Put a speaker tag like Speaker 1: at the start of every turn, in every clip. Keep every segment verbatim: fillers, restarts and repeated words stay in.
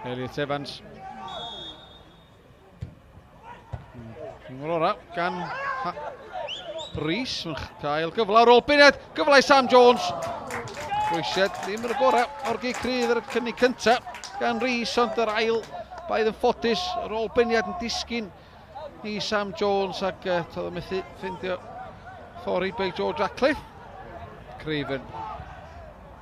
Speaker 1: Elliot Evans. Yn ora gan Rhys, mae'n cael gyfle ar ôl buniad, gyfle i Sam Jones. Rwysiad ddim yn y gorau o'r gic rydd ar y cynnig cyntaf gan Rhys, ond yr ail baedd yn ffodus ar ôl buniad yn disgyn i Sam Jones ac uh, toedd o methu ffindio ffordd i bei George Ratcliffe. Craven.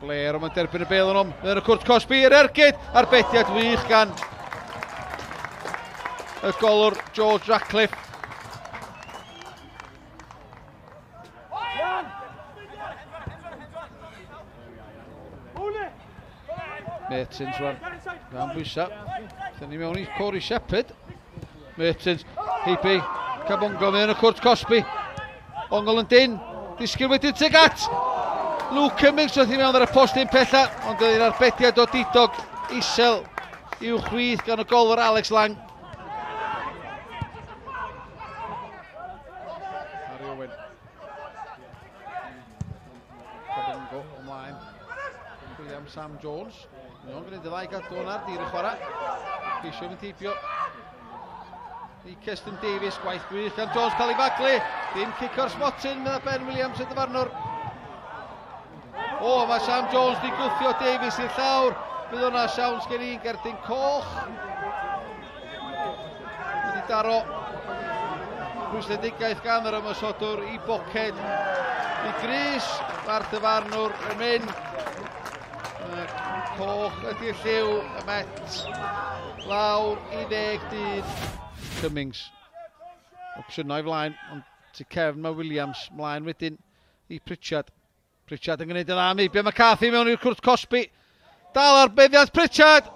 Speaker 1: Blair, ond mae'n derbyn y bêl yn om. Mae'n y cwrt cosbi i'r ergyd, arbediad wych gan y golwr George Ratcliffe. Mertens rwan, gan bwysa. Dyna ni mewn i Corey Shepherd. Mertens, heibio Cabongo mewn y cwrt cosbi. Ongol yn dyn, disgyn wedyn tuag at Luke Cummings wrth i mewn ar y postyn pella, ond oedd yr arbediad o didog isel i'w chwith gan y golwr Alex Lang. Harry Owen. Cabongo ymlaen. William Sam Jones. Mae'n gwneud y ddau gadw hwnna ar dir y chwarae. Ceisio mynd heibio i Keston Davies, gwaith gwych gan Jones cael ei faglu. Dim cic o'r smotyn, medda Ben Williams y dyfarnwr. O, mae Sam Jones di gwthio Davies i'r llawr. Bydd hwnna siawns gen i'n gerdyn coch. Wedi daro rhwystredigaeth gan yr ymosodwr i boced i Gris. Mae'r dyfarnwr yn mynd. Coch ydy'r lliw, y Met lawr i ddeg dyn. Cummings, opsiynau flaen, ond tu cefn mae Williams mlaen wedyn i Pritchard. Pritchard yn gwneud y dda, heibio McCarthy mewn i'r cwrt cosbi. Dal ar beddiant Pritchard!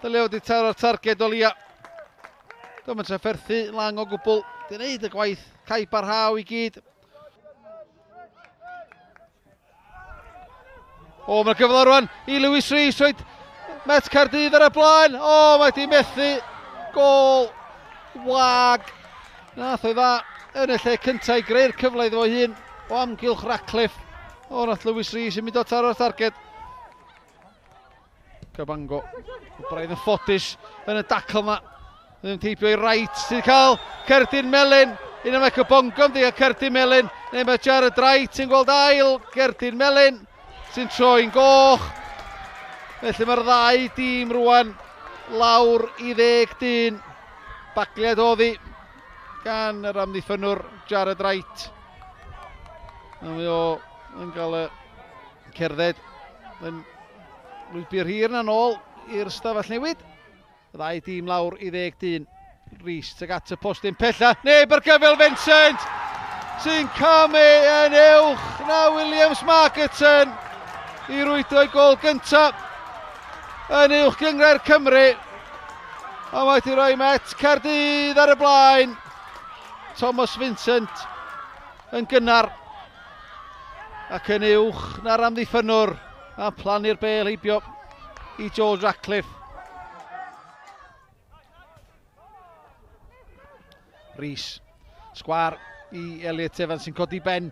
Speaker 1: Dylio wedi taro'r targed o lia. Dwi'n mynd trafferthu Lang o gwbl. Di wneud y gwaith, cae barhaw i gyd. O, mae'r gyfle rwan i Lewis Rees, roed Met Caerdydd ar y blaen. O, mae di methu. Gôl wag. Nath o'i dda yn y lle cyntaf i greu'r cyfle iddo fo hun o amgylch Ratcliffe. O, nath Lewis Rees yn mynd o taro'r targed. Cabango, braidd yn ffodus yn y dacl yma. Ddim teipio i Wright sydd cael cerdyn melyn. Un yma Cabango yn cael cerdyn melyn. Neu mae Jared Wright yn gweld ail gerdyn melyn sy'n troi'n goch. Felly mae'r ddau dîm rwan lawr i ddeg dyn. Bagliad oddi gan yr amddiffynnwr Jared Wright. A mae o yn cael y cerdded yn lwybr hir na nôl i'r stafell newid. Y ddau dîm lawr i ddeg dyn. Rhys tuag at y postyn pella. Neb ar gyfel Vincent sy'n camu yn uwch na Williams Markerton i rwydo ei gôl gyntaf yn uwch gynghrair Cymru. A mae wedi rhoi Met Caerdydd ar y blaen. Thomas Vincent yn gynnar ac yn uwch na'r amddiffynnwr a plannu'r bêl heibio i George Ratcliffe. Rhys, sgwar i Elliot Evans sy'n codi ben,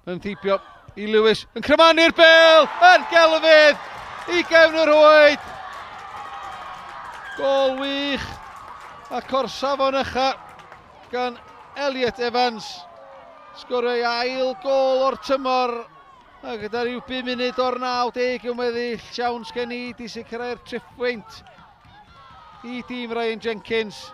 Speaker 1: yn theibio i Lewis, yn crymanu'r bêl, yn gelfydd i gefn yr rhwyd. Gôl wych ac o'r safon ucha gan Elliot Evans. Sgorio ei ail gôl o'r tymor a gyda rhyw bum munud o'r naw deg yn weddill, siawns gen i di sicrhau'r triphwynt i dîm Ryan Jenkins.